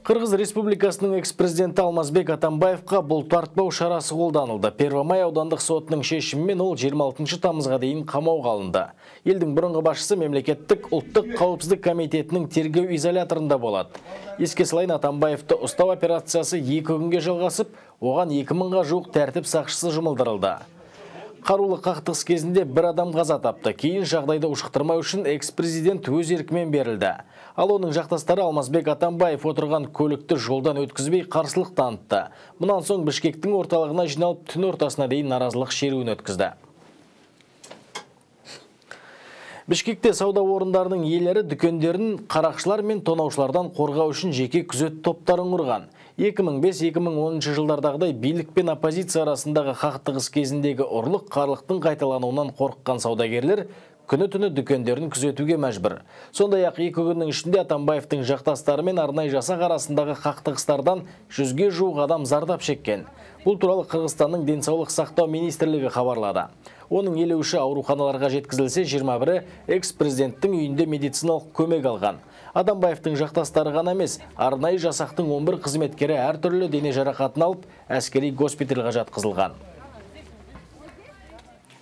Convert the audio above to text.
Қырғыз Республикасының экс-президенті Алмазбек Атамбаевқа бұлтартпау шарасы қолданылды. Первомай аудандық сотының шешімімен ол 26 тамызға дейін қамауға алынды. Елдің бұрынғы басшысы мемлекеттік ұлттық қауіпсіздік комитетінің тергеу изоляторында болады. Еске салайын, Атамбаевты ұстау операциясы 2 күнге жалғасып, оған 2000-ға жуық тәртіп сақшысы жұмылдырылды. Қарулы қақтығыс кезінде бір адам қаза тапты. Кейін жағдайды ушықтырмау үшін экс-президент өз еркімен берілді. Ал оның жақтастары Алмазбек Атамбаев отырған көлікті жолдан өткізбей қарсылық танытты. Мұнан соң Бішкектің орталығына жиналып түн ортасына дейін наразылық шеруін өткізді. Бішкекте сауда орындарының иелері дүкендерін қарақшылар мен тонаушылардан қорғау үшін жеке күзет топтарын құрған. 2005-2010 жылдардағыдай билік пен оппозиция арасындағы қақтығыс кезіндегі ұрлық қарлықтың қайталануынан қорыққан саудагерлер күні-түні дүкендерін күзетуге мәжбүр. Сондай-ақ 2 күннің ішінде Атамбаевтың жақтастары мен арнайы жасақ арасындағы қақтығыстардан 100-ге жуық адам зардап шеккен. Бұл туралы Қырғызстанның денсаулық сақтау министрлігі хабарлады. Оның елеуші ауруханаларға жеткізілсе, 21-і экс-президенттің үйінде медициналық көмек алған. Атамбаевтың жақтастары ғана емес, арнайы жасақтың 11 қызметкері әртүрлі дене жарақатын алып, әскери госпитальға жатқызылған.